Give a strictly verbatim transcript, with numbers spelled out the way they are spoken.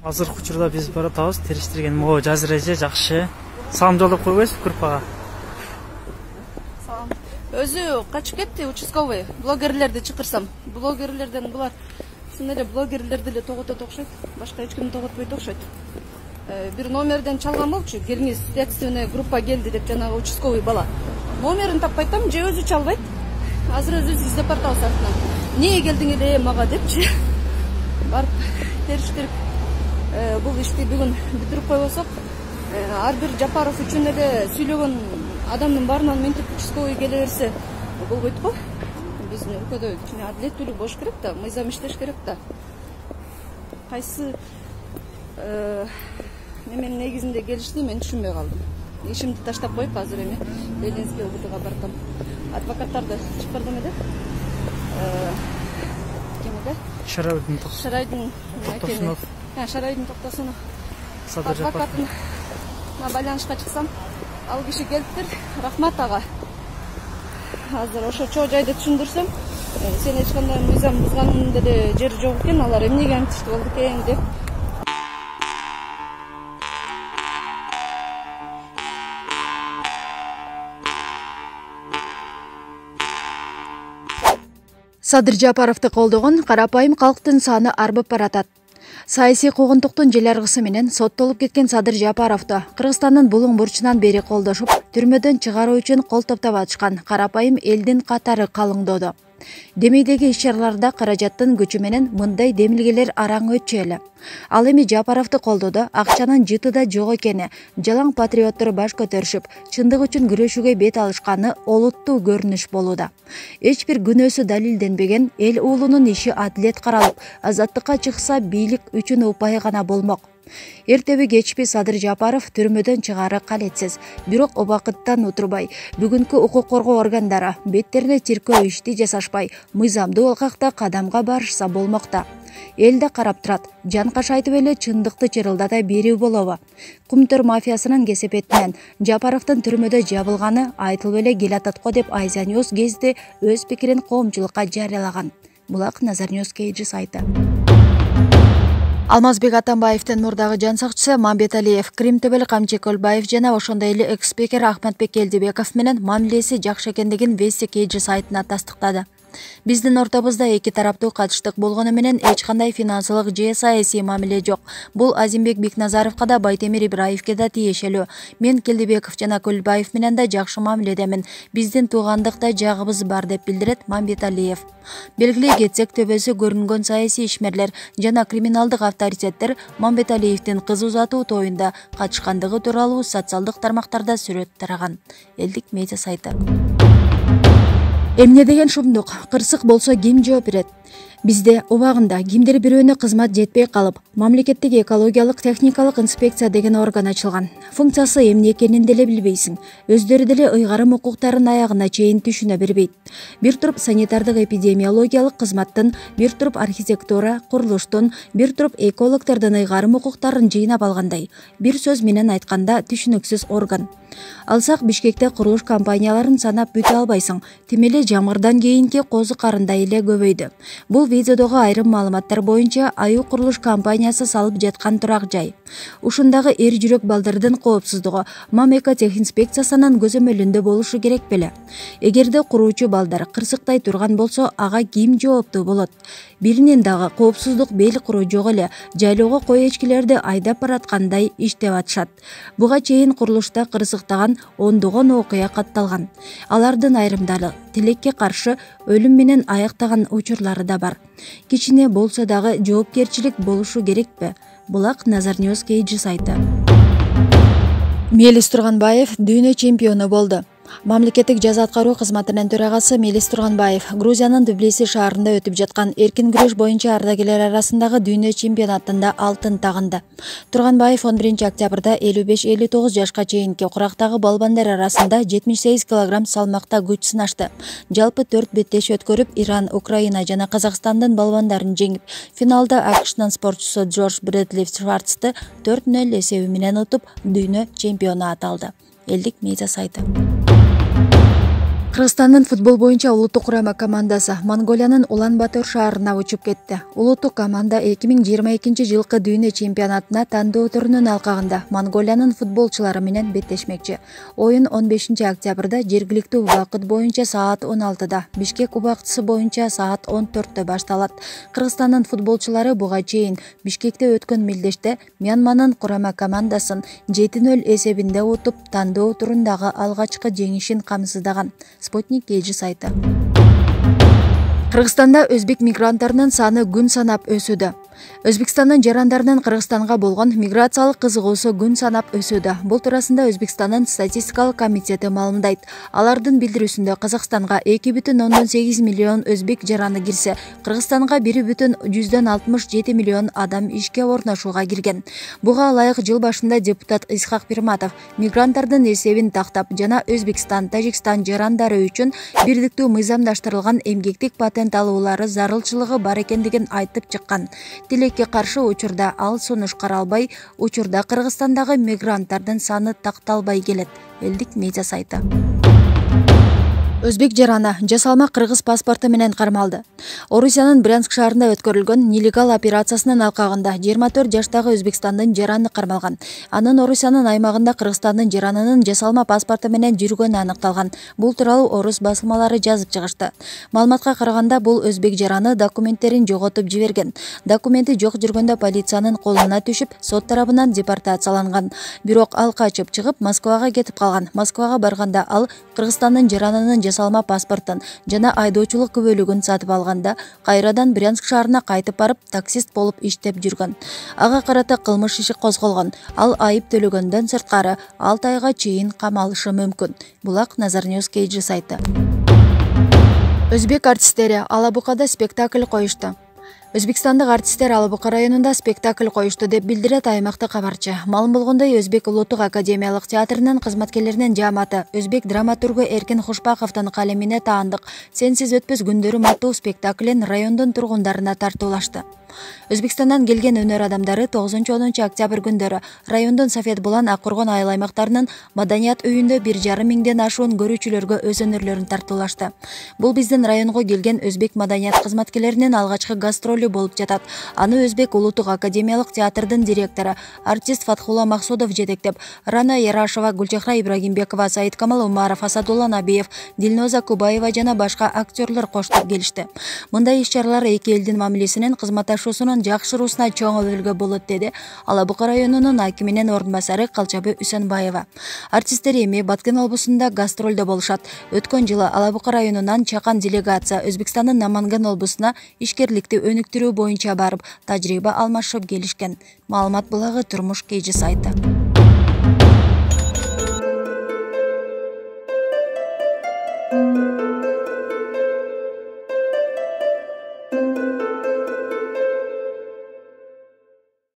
Азыркы учурда биз баратабыз териштирген могу жазыр эже жакшы. Салам жолдоп койбойсузбу группага? Салам. Өзү качып кетти участковый. Блогерлерди чакырсам. Блогерлерден булар чын эле блогерлерди эле тоготот окшойт. Башка эч кимди тоготпойт окшойт. Бир номерден чалган болчу. Келиңиз, следственная группа келди деп жанагы участковый бала. Номерин таппай атам, же өзү чалбайт. Азыр өзүбүз издеп баратабыз артынан. Эмнеге келдиң эле мага депчи. Барып териш керек. Бул ишти бүгүн бүтүрүп койбосок, ар бир Жапаров үчүн эле сүйлөгөн адамдын баарынан мынтип участковый келе берсе болбойт го. Биздин өлкөдө кичине адилеттүүлүк болуш керек да, мыйзам иштеш керек да. Кайсы неменин негизинде келишти мен түшүнбөй калдым. Ишимди таштап коюп азыр эми Ленинский ОБДга бардым. Адвокаттарды чакырдым эле. Ким эле? Шарайдын Шарайдын Токтосунов. Шарайдын Токтосунов. Адвокатын байланышка чыксам, ал киши келиптир. Рахмат ага. Азыр ошо чоо жайды түшүндүрсөм, сен эч кандай мыйзам бузганын деле жери жок экен, алар эмнеге антиштүү болду экен деп. Садыр Жапаровду колдогон карапайым калктын саны арбып баратат. Саясий куугунтуктун желаргысы менен соттолуп кеткен Садыр Жапаровду Кыргызстандын булуң бурчунан бери колдошуп, түрмөдөн чыгаруу үчүн кол топтоп атышкан карапайым элдин катары калыңдоодо. Демейдеги иш-чараларда каражаттын күчү менен мындай демилгелер араң өтчү эле. Ал эми Жапаровду колдоодо акчанын жытыда жок экени, жалаң патриоттор баш көтөрүшүп, чындык үчүн күрөшүүгө бет алышканы олуттуу көрүнүш болууда. Эч бир күнөөсү далилденбеген эл уулунун иши адилет каралып, азаттыкка чыкса бийлик үчүн упай гана болмок. Эртеби кечпи Садыр Жапаров түрмөдөн чыгаары калетсиз. Бирок убакыттан утурбай, бүгүнкү укук коргоо органдары беттерине тиркөө ишти жасашпай, мыйзамдуу алкакта кадамга барышса болмокта. Эл да карап турат, жанкаш айтып эле чындыкты чырылдата берүү болобу? Кумтөр мафиясынын кесепетинен Жапаровдун түрмөдө жабылганы айтылып эле келатат го деп Азия News гезити өз пикирин коомчулукка жарыялаган. Булак Назар News Кейджи сайты. Алмазбек Атамбаевдин мурдагы жан сакчысы Мамбеталиев, Кримтөбөл Камчы Көлбаев жана ошондой эле экс-спикер Ахматбек Келдибеков менен мамилеси жакшы экендигин Вести Кейджи сайтына тастыктады. Биздин ортобузда эки тараптуу катыштык болгону менен эч кандай финансылык же саясий мамиле жок. Бул Азимбек Бекназаровго да, Байтемир Ибраевге да тиешелүү. Мен Келдибеков жана Көлбаев менен да жакшы мамиледемин. Биздин туугандыкта жагыбыз бар деп билдирет Мамбеталиев. Белгилей кетсек, төбөсү көрүнгөн саясий ишмерлер жана криминалдык авторитеттер Мамбеталиевдин кыз узатуу тоюнда катышкандыгы тууралуу социалдык тармактарда сүрөт тараган. Элдик медиа сайты. Эмне деген шумдук, кырсык болсо ким жооп берет? Бизде убагында кимдир бирөөнө кызмат жетпей калып, мамлекеттик экологиялык техникалык инспекция деген орган ачылган. Функциясы эмне экенин деле билбейсиң. Өздөрү деле ыйгарым укуктарын аягына чейин түшүнө бербейт. Бир туруп санитардык эпидемиологиялык кызматтын, бир туруп архитектура, курулуштун, бир туруп экологдордун ыйгарым укуктарын жыйнап алгандай. Бир сөз менен айтканда түшүнүксүз орган. Алсак Бишкекте курулуш компанияларын санап бүтө албайсың. Тим эле жамгырдан кийинки козу карындай эле көбөйдү. Бул видеодогу айрым маалыматтар боюнча Аю курулуш компаниясы салып жаткан турак жай. Ушундагы эр жүрөк балдардын коопсуздугу Мамэко техинспекциясынын көзөмөлүндө болушу керек беле? Эгерде куруучу балдар кырсыктай турган болсо, ага ким жооптуу болот? Биринин дагы коопсуздук бел куруу жок эле, жайлоого кой эчкилерди айдап бараткандай иштеп атышат. Буга чейин курулушта кырсыктаган ондогон окуя катталган. Алардын айрымдары тилекке каршы өлүм менен аяктаган учурлары да бар. Кичине болсо дагы жоопкерчилик болушу керекпи? Булак Назар News Кейджи сайты. Мелис Турганбаев дүйнө чемпиону болду. Мамлекеттик жаза аткаруу кызматынын төрагасы Мелис Турганбаев Грузиянын Тбилиси шаарында өтүп жаткан эркин күрөш боюнча ардагерлер арасындагы дүйнө чемпионатында алтын тагынды. Турганбаев он биринчи октябрда элүү беш элүү тогуз жашка чейинки курактагы балбандар арасында жетимиш сегиз килограмм салмакта күч сынашты. Жалпы төрт беттеш өткөрүп, Иран, Украина жана Казакстандын балбандарын жеңип, финалда АКШнын спортчусу Джордж Брэдли Шварцты төрт нөл эсеби менен утуп, дүйнө чемпиону аталды. Элдик медиа сайты. Кыргызстандын футбол боюнча улуттук курама командасы Монголиянын Улан-Батор шаарына учуп кетти. Улуттук команда эки миң жыйырма экинчи жылкы дүйнө чемпионатына тандоо турунун алкагында Монголиянын футболчулары менен беттешмекчи. Оюн он бешинчи октябрда жергиликтүү убакыт боюнча саат он алтыда, Бишкек убактысы боюнча саат он төрттө башталат. Кыргызстандын футболчулары буга чейин Бишкекте өткөн мелдеште Мьянманын курама командасын жети нөл эсебинде утуп, тандоо турундагы алгачкы жеңишин камсыздаган. Спутник эжи сайты. Кыргызстанда өзбек мигранттарынын саны күн санап өсүүдө. Өзбекстандын жарандарынын Кыргызстанга болгон миграциялык кызыгуусу күн санап өсүүдө. Бул туурасында Өзбекстандын статистикалык комитети маалымдайт. Алардын билдирүүсүндө Казакстанга эки бүтүн ондон сегиз миллион өзбек жараны кирсе, Кыргызстанга бир бүтүн жүздөн алтымыш жети миллион адам ишке орношууга кирген. Буга ылайык жыл башында депутат Исхак Пирматов мигранттардын эсебин тактап жана Өзбекстан, Тажикстан жарандары үчүн бирдиктүү мыйзамдаштырылган эмгектик патент алуулары зарылчылыгы бар экендигин айтып чыккан. Тилекке каршы учурда ал сунуш каралбай, учурда Кыргызстандагы мигранттардын саны такталбай келет. Элдик медиа сайты. Өзбек жараны жасалма кыргыз паспорту менен кармалды. Орусиянын Брянск шаарында өткөрүлгөн нелегал операциясынын алкагында жыйырма төрт жаштагы Өзбекстандын жараны кармалган. Анын Орусиянын аймагында Кыргызстандын жаранынын жасалма паспорту менен жүргөнү аныкталган. Бул тууралуу орус басылмалары жазып чыгышты. Маалыматка караганда бул өзбек жараны документтерин жоготуп жиберген. Документи жок жүргөндө полициянын колуна түшүп, сот тарабынан депортацияланган. Бирок ал качып чыгып Москвага кетип калган. Москвага барганда ал Кыргызстандын жаранынын жасалма паспортун жана айдоочулук күбөлүгүн сатып алганда кайрадан Брянск шаарына кайтып барып таксист болуп иштеп жүргөн. Ага карата кылмыш иши козголгон. Ал айып төлөгөндөн сырткары алты айга чейин камалышы мүмкүн. Булак Назар Ньюс Кейджи сайты. Өзбек артисттери Алабукада спектакль коюшту. Өзбекстандык артисттер Алабука районунда спектакль коюшту деп билдирет аймактык кабарчы. Маалым болгондой, Өзбек улуттук академиялык театрынын кызматкерлеринин жааматы өзбек драматургу Эркин Хушпаковдун калемине таандык «Сенсиз өтпөс күндөрүм» аттуу спектаклин райондун тургундарына тартуулашты. Өзбекстандан келген өнөр адамдары тогузунчу онунчу октябрь күндөрү райондун Сафет Булан, Аккургон айыл аймактарынын маданият үйүндө бир жарым миңден ашуун көрүүчүлөргө өз өнөрлөрүн тартуулашты. Бул биздин районго келген өзбек маданият кызматкерлеринин алгачкы гастролу болуп жатат. Аны Өзбек улуттук академиялык театрдын директору, артист Фатхулла Максудов жетектеп, Рана Ярашева, Гүлчехра Ибрагимбекова, Саидкамал Умаров, Асадулла Набиев, Дилноза Кубаева жана башка актерлор коштоп келишти. Мындай иш-чаралар эки элдин мамилесинин кызматташуусунун жакшыруусуна чоң өбөлгө болот, деди Алабука районунун акиминин орун басары Калчабы Үсөнбаева. Артисттер эми Баткен облусунда гастролдо болушат. Өткөн жылы Алабука районунан чакан делегация Өзбекстандын Наманган облусуна ишкерликти өнүктүрүү боюнча барып, тажрыйба алмашып келишкен. Маалымат булагы Турмуш Кейджи сайты.